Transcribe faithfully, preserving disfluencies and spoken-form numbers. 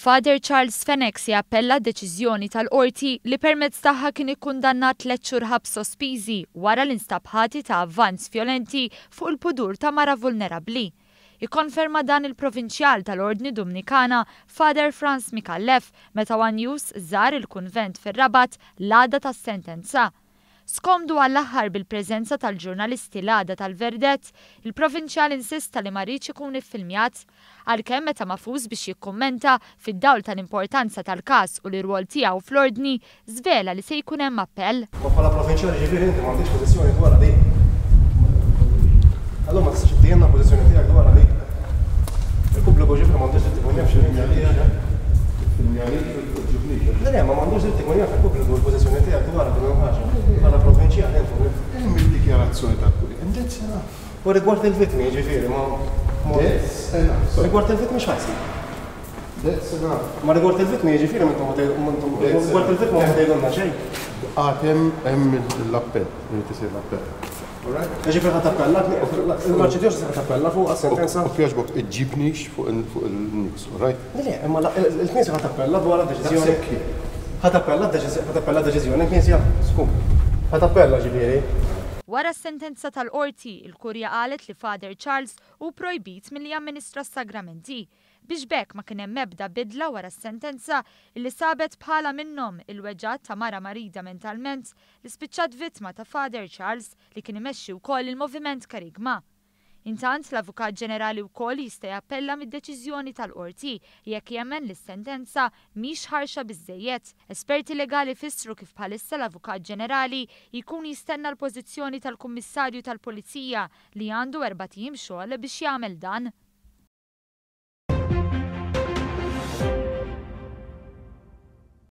Father Charles Fenech se jappella deċiżjoni tal-qorti li permezz tagħha kien ikkundannat tliet xhur ħabs sospiżi wara li nstab ħati ta' avvanz vjolenti fuq il-pudur ta' mara vulnerabbli. Ikkonferma dan il-provinċjal tal-Ordni Dominikana Father Frans Micallef meta One News żar il-kunvent fir-Rabat l-għada tas-sentenza. Skomdu għall-aħħar bil-preżenza tal-ġurnalisti l-għada tal-verdett, il-provinċjal insista li ma riedx ikun iffilmjat. Għalkemm meta magħfus biex jikkummenta fid-dawl tal-importanza tal-każ u l-irwol tiegħu fl-ordni, żvela li se jkun hemm appell. Ma bħala provinċjali ġifieri inti m'għandekx pożizzjoni dwar di. Allora ma tistax ittijenna pożizzjoni tiegħek dwar di. Il-pubbliku ġifieri m'għandux dritt ikun jaf x'inhi. Le, le, ma m'għandux dritt ikun jaf il-pubbliku l-pożizzjoni tiegħek dwar din il-ħaġa. Bħala provinċjali inti. Hemm il-dikjarazzjoni tal-kurja. And that's enough. U rigward il-vittmi ġifieri ma. That's enough. Rigward il-vittmi x'ħa jsir? That's enough. Ma rigward il-vittmi ġifieri m'intom rigward il-vittmi ma tgħidulna xejn. Għad hemm hemm l-appell, irid isir l-appell. All right? Ġifieri ħa tappella, l-arċidjoċesi ħa tappella fuq għas-sentenza. U jogħġbok iġġibnix fuq il-news, all right? Le, le, imma il-Knisja ħa tappella dwar deċiżjoni. Ħa tappella ħa tappella deċiżjoni il-Knisja. Skum. Ħa tappella ġifieri. Wara s-sentenza tal-qorti, il-kurja qalet li Father Charles hu projbit milli jamministra s-sagramenti biex b'hekk ma kien hemm ebda bidla wara s-sentenza illi sabet bħala minnhom il-weġgħat ta' mara marida mentalment li spiċċat vittma ta' Father Charles li kien imexxi wkoll il-Moviment Karigma. Intant l-Avukat Ġenerali wkoll jista' jappella mid-deċiżjoni tal-qorti jekk jemmen li s-sentenza mhix ħarxa biżejjed. Esperti legali fissru kif bħalissa l-Avukat Ġenerali jkun jistenna l-pożizzjoni tal-Kummissarju tal-Pulizija li għandu erbat ijiem xogħol biex jagħmel dan.